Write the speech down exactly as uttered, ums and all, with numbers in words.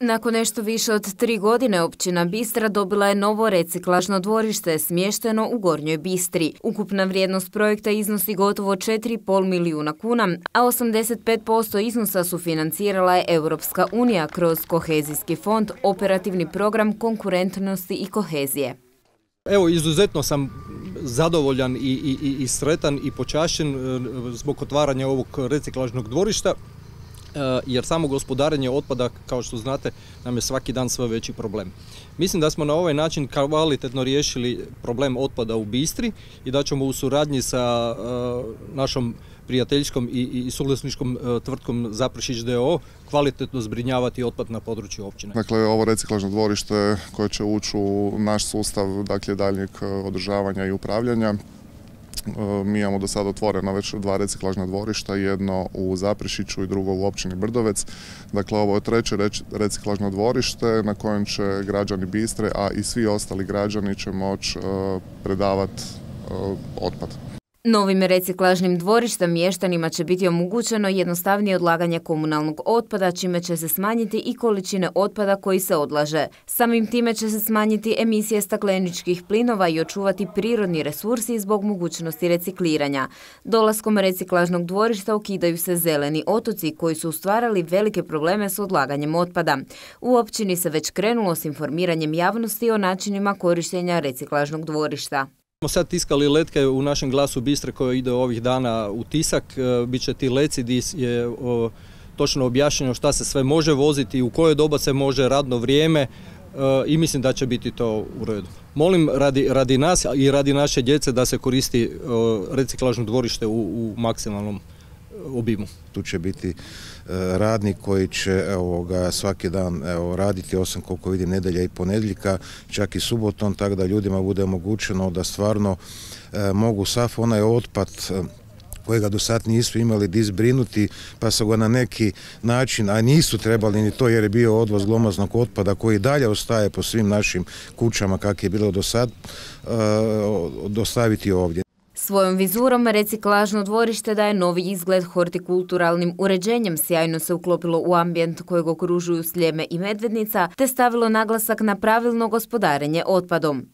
Nakon nešto više od tri godine općina Bistra dobila je novo reciklažno dvorište smješteno u Gornjoj Bistri. Ukupna vrijednost projekta iznosi gotovo četiri i pol milijuna kuna, a osamdeset pet posto iznosa sufinancirala je Europska unija kroz kohezijski fond, operativni program konkurentnosti i kohezije. Evo, izuzetno sam zadovoljan i, i, i sretan i počašćen zbog otvaranja ovog reciklažnog dvorišta, jer samo gospodarenje otpada, kao što znate, nam je svaki dan sve veći problem. Mislim da smo na ovaj način kvalitetno riješili problem otpada u Bistri i da ćemo u suradnji sa našom prijateljskom i, i suvlasničkom tvrtkom Zaprešić d o o kvalitetno zbrinjavati otpad na području općine. Dakle, ovo reciklažno dvorište koje će ući u naš sustav, dakle, daljnjeg održavanja i upravljanja. Mi imamo do sada otvoreno već dva reciklažna dvorišta, jedno u Zaprešiću i drugo u općini Brdovec. Dakle, ovo je treće reciklažno dvorište na kojem će građani Bistre, a i svi ostali građani će moći predavati otpad. Novim reciklažnim dvorištem mještanima će biti omogućeno jednostavnije odlaganje komunalnog otpada, čime će se smanjiti i količine otpada koji se odlaže. Samim time će se smanjiti emisije stakleničkih plinova i očuvati prirodni resursi zbog mogućnosti recikliranja. Dolaskom reciklažnog dvorišta ukidaju se zeleni otoci koji su stvarali velike probleme s odlaganjem otpada. U općini se već krenulo s informiranjem javnosti o načinima korištenja reciklažnog dvorišta. Smo sad tiskali letke u našem Glasu Bistre koje ide ovih dana u tisak. Biće ti leci gdje je o, točno objašnjeno šta se sve može voziti, u koje doba se može, radno vrijeme e, i mislim da će biti to u redu. Molim radi, radi nas i radi naše djece da se koristi e, reciklažno dvorište u, u maksimalnom obimu. Tu će biti radnik koji će evo, ga, svaki dan evo, raditi, osim koliko vidim nedjelja i ponedjeljka, čak i subotom, tako da ljudima bude omogućeno da stvarno e, mogu sav onaj otpad e, kojega do sad nisu imali di zbrinuti, pa su ga na neki način, a nisu trebali ni to jer je bio odvoz glomaznog otpada koji dalje ostaje po svim našim kućama kako je bilo do sad, e, dostaviti ovdje. Svojom vizurom reciklažno dvorište daje novi izgled hortikulturalnim uređenjem, sjajno se uklopilo u ambijent kojeg okružuju Sljeme i Medvednica, te stavilo naglasak na pravilno gospodarenje otpadom.